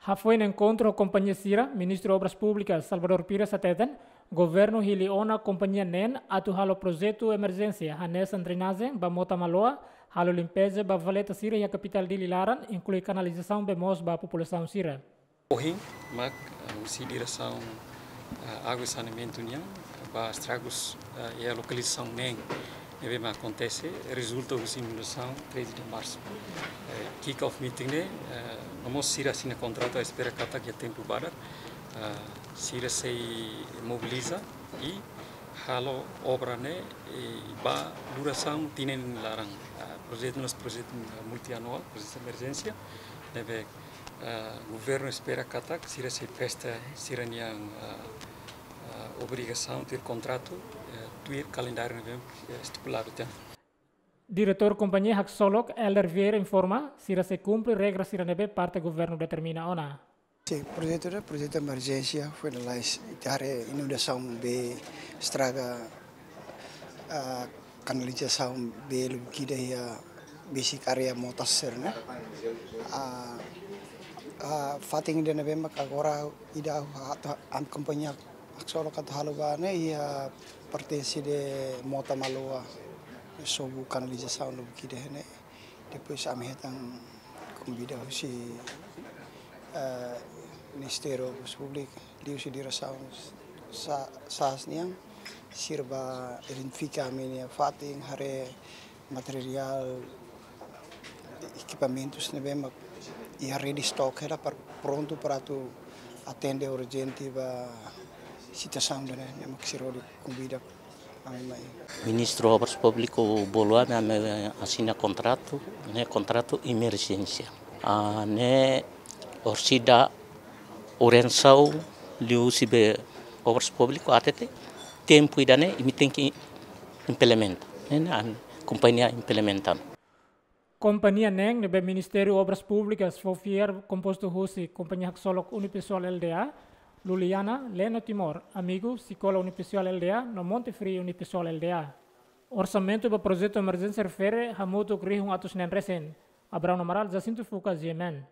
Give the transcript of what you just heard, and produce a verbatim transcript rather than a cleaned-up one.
Hafoin enkontru ho kompañia sira, Ministru Obras Públikas Salvador Pires hateten, governu hili ona kompañia neen atu halo projetu emerjénsia hanesan drenajen ba Mota Maloa, halo limpeza ba valeta sira iha kapitál Dili laran, inklui kanalizasaun bee moos ba populasaun sira. Ohin mak, eh, husi diresaun, eh, água e saneamentu nian, ba estragus, eh, iha lokalizasaun neen ne'ebé mak akontese, rezulta husi inundasaun treze de março. Eh, kick-off meeting ne'e, eh, no mós sira asina kontratu, espera katak iha tempu badak, eh, sira sei mobiliza i halo obra ne'e, eh, ba durasaun tinan laran. Eh, projetu ne'e projetu multianuál, projetu emerjénsia, ne'ebé, eh, governu espera katak sira sei presta sira-nian, eh, eh, obrigasaun tuir kontratu, eh, tuir kalendáriu ne'ebé, eh, estipuladu tan. Diretór kompañia haksolok, Elder Vieira, informa, sira sei kumpre regra sira ne'ebé parte governu determina ona. Sin, projetu ne'e projetu emerjénsia, finalize, ita haree inundasaun bee estraga, ah, kanalizasaun bee lubuk ida iha besik área Mota sira ne'e. Ah, ah, fatin ida ne'ebé mak agora ida atu, ami kompañia haksolok atu halo ba ne'e iha pertense de Mota Maloa, sobu kanalizasaun lubuk ida ne'e. Depois ami hetan konvida husi, eh, Ministériu Obras Públikas, liuhusi diresaun sa-, SAAS nian, sira bá identifika ami-nia fatin, haree materiál, ekipamentus ne'ebé mak iha rede stok hela para prontu para atu atende urjente ba situasaun ida-ne'e, ne'e mak sira hodi konvida ami mai. Ministru Obras Públikas bolu ami, ami asina kontratu, ne'e kontratu emerjénsia. Ah, ne'e orsida orientasaun liuhusi be Obras Públikas hatete, tempu ida-ne'e imi tenke implementa. Ne'e, ne'e ami kompañia implementa. Kompañia neen ne'ebé Ministériu Obras Públikas fó fiar kompostu husi kompañia haksolok Unipessoal Lda, Luliana, Leno Timor, Amigo, Sikola Unipessoal Lda, no Monte Frio Unipessoal Lda. Orsamentu ba projetu emerjénsia refere hamutuk rihun atus neen resin. Abraão Amaral, Jacinto Fuca, G M N.